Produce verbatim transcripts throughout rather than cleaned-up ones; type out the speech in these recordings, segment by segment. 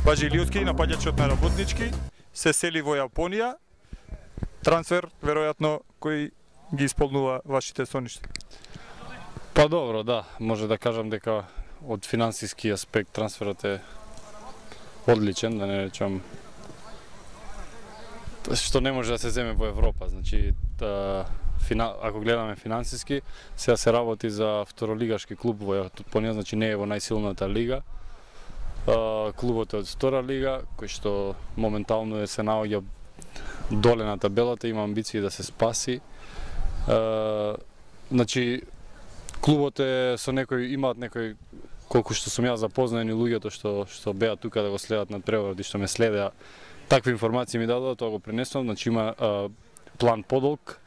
Бажилиотски, напаѓачот на Работнички, се сели во Јапонија. Трансфер, веројатно, кој ги исполнува вашите соништа? Па добро, да, може да кажам дека од финансиски аспект трансферот е одличен, да не речам што не може да се земе во Европа. Значи, та, фина, ако гледаме финансиски, сега се работи за второлигашки клуб во Јапонија, значи не е во најсилната лига. А, клубот е од втора лига, кој што моментално е се наоѓа доле на табелата, има амбиции да се спаси. А, значи, клубот е со некој, имаат некој, колку што сум ја запознаен и луѓето што што беа тука да го следат на преворот и што ме следеа, такви информации ми дадоа, тоа го пренесувам. Значи има а, план подолг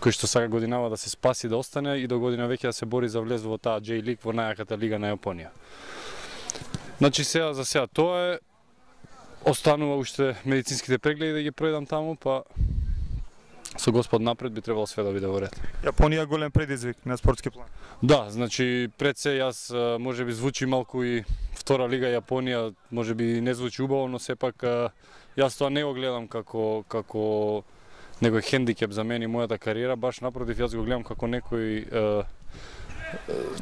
кој што сака годинава да се спаси, да остане и до година веќе да се бори за влез во таа J-League, во најаката лига на Јапонија. Значи сега за сега тоа е, останува уште медицинските прегледи да ги пројдам таму, па со Господ напред би требало све да биде во ред. Јапонија голем предизвик на спортски план. Да, значи пред се јас можеби звучи малку и втора лига Јапонија, можеби не звучи убаво, но сепак јас тоа не го гледам како како некој хендикеп за мене и мојата кариера, баш напротив, јас го гледам како некој е,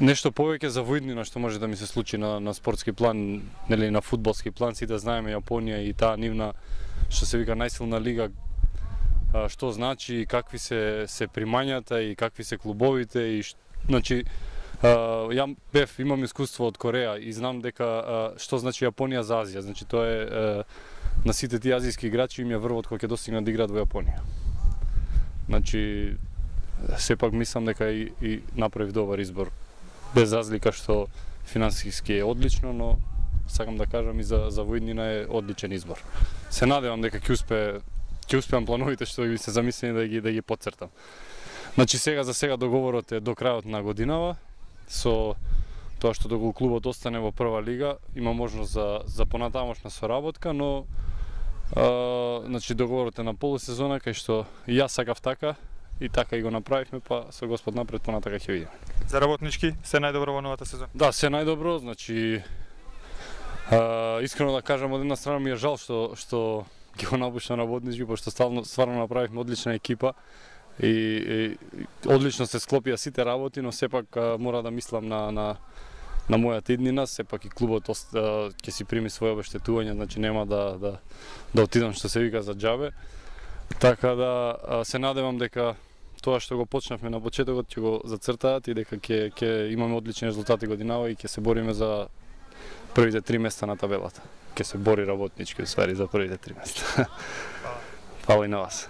нешто повеќе за воиднина што може да ми се случи на на спортски план, нели на фудбалски план. Сите знаеме Јапонија и таа нивна што се вика најсилна лига, што значи и какви се се примањата и какви се клубовите и ш... значи ја бев имам искуство од Кореја и знам дека што значи Јапонија за Азија. Значи тоа е на сите тие азијски играчи им е врвот кога ќе достигнат да играат во Јапонија. Значи сепак мислам дека и, и направив добар избор, без разлика што финансиски е одлично, но сакам да кажам и за за воиднина е одличен избор. Се надевам дека ќе успее ќе успеам плановите што ги се замислени да ги да ги потцртам. Значи сега за сега договорот е до крајот на годинава, со тоа што доколку клубот остане во прва лига, има можност за за понатамошна соработка, но а, значи договорот е на полусезона кај што и јас сакав така и така и го направивме, па со Господ напред понатака ќе видиме. За Работнички се најдобро во новата сезона. Да, се најдобро, значи а, искрено да кажам, од една страна ми е жал што што ги го напуштам Работнички, пошто стварно стварно направивме одлична екипа и, и одлично се склопија сите работи, но сепак а, мора да мислам на на на мојата иднина, сепак и клубот а, ќе си прими своје обештетување, значи нема да да да отидам што се вика за џабе. Така да а, се надевам дека тоа што го почнавме на почетокот ќе го зацртаат и дека ќе ќе имаме одлични резултати годинава и ќе се бориме за првите три места на табелата. Ќе се бори Работнички, усвари, за првите три места. Фала и на вас.